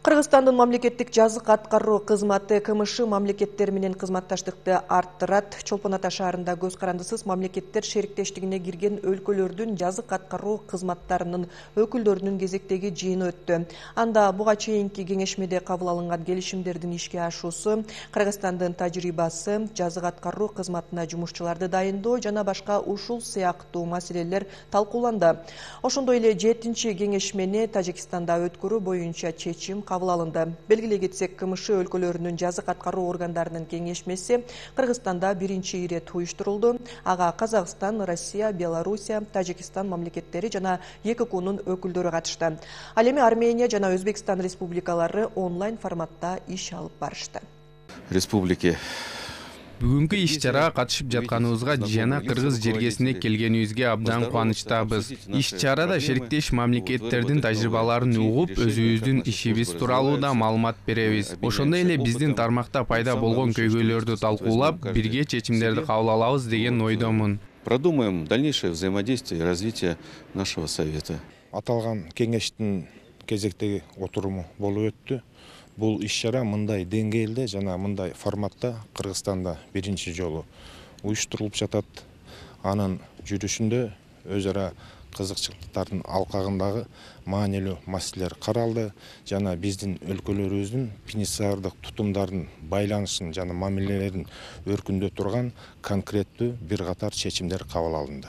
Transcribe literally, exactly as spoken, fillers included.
Кыргызстандын мамлекеттик жазык аткаруу кызматы КМШ мамлекеттер менен кызматташтыкты арттырат. Чолпон Ата шаарында көз карандысыз мамлекеттер шериктештигине кирген өлкөлөрдүн жазык аткаруу кызматтарынын өкүлдөрүнүн кезектеги жыйыны өттү. Анда буга чейинки кеңешмеде кабыл алынган келишимдердин ишке ашуусу, Кыргызстандын тажрыйбасы, жазык аткаруу кызматына жумушчуларды дайындоо жана башка ушул сыяктуу маселелер талкууланды. Ошондой эле жетинчи кеңешмени Тажикстанда өткөрүү боюнча чечим кабыл алынды. Белгилей кетсек, КМШ өлкөлөрүнүн жазык аткаруу органдарынын кеңешмеси Кыргызстанда биринчи ирет уюштурулду. Ага Казакстан, Россия, Белоруссия, Тажикстан мамлекеттери жана ЕККУнун өкүлдөрү катышты. Ал эми Армения жана Өзбекстан республикалары онлайн форматта иш алып барышты. Республики Бүгүнкү иш-чарага катышып жатканыбызга жана кыргыз жергесине келгенибизге абдан кубанычтабыз. Иш-чарада шериктеш мамлекеттердин тажрыйбаларын угуп, өзүбүздүн ишибиз тууралуу да маалымат беребиз. Ошондой эле биздин тармакта пайда болгон көйгөйлөрдү талкуулап, бирге чечимдерди кабыл алабыз деген ойдомун. Продумаем дальнейшее взаимодействие и развитие нашего совета. Аталган кеңештин кезектеги отуруму болуп өттү. Бул иш-чара мындай деңгээлде жана мындай форматта Кыргызстанда биринчи жолу уюштурулуп жатат. Анын жүрүшүндө өз ара кызыкчылыктардын алкагындагы маанилүү маселелер каралды жана биздин өлкөлөрүбүздүн пенитенциардык тутумдардын байланышын жана мамилелерин өркүндөтө турган конкреттүү бир катар чечимдер кабыл алынды.